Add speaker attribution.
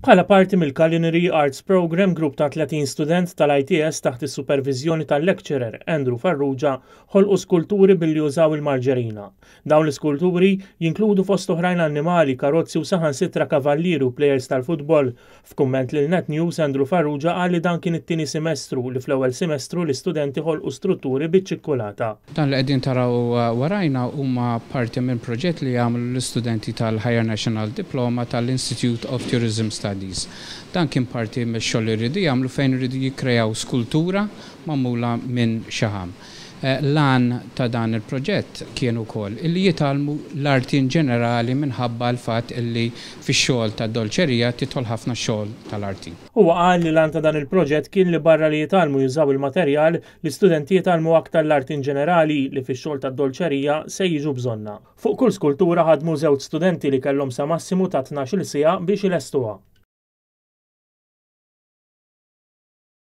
Speaker 1: Bħala parti mill-Culinary Arts Programme, grupp ta' 30 student tal-ITS taħt is-superviżjoni tal-lecturer Andrew Farrugia ħolqu skulturi billi użaw il-marġerina. Dawn l-iskulturi jinkludu fost oħrajn annimali, karozzi u saħansitra kavallieri u plejers tal-futbol. F'kumment lil Net News, Andrew Farrugia qal li dan kien it-tieni semestru li fl-ewwel semestru l-istudenti ħolqu strutturi biċ-ċikkulata.
Speaker 2: Dan li qegħdin taraw warajna huma parti minn proġett li għamlu l-istudenti tal-Higher National Diploma tal-Institute of Tourism Studies. Dan kien parti mix-xogħol li rridu jagħmlu fejn iridu jikkreaw skultura magħmula minn xaħam. L-għan ta' dan il-proġett kien ukoll illi jitgħallmu l-arti in ġenerali minħabba l-fatt illi fix-xogħol tad-dolċerija tidħol ħafna xogħol tal-arti.
Speaker 1: Huwa qal li l-għan ta' dan il-proġett kien li barra li jitgħallmu jużaw il-materjal, L-istudenti jitgħallmu aktar l-arti inġenerali li fix-xogħol tad-dolċerija se jiġu bżonnha. Fuq kull skultura ħadmu żewġ studenti li kellhom sa massimu ta' 12-il siegħa biex ilestuha.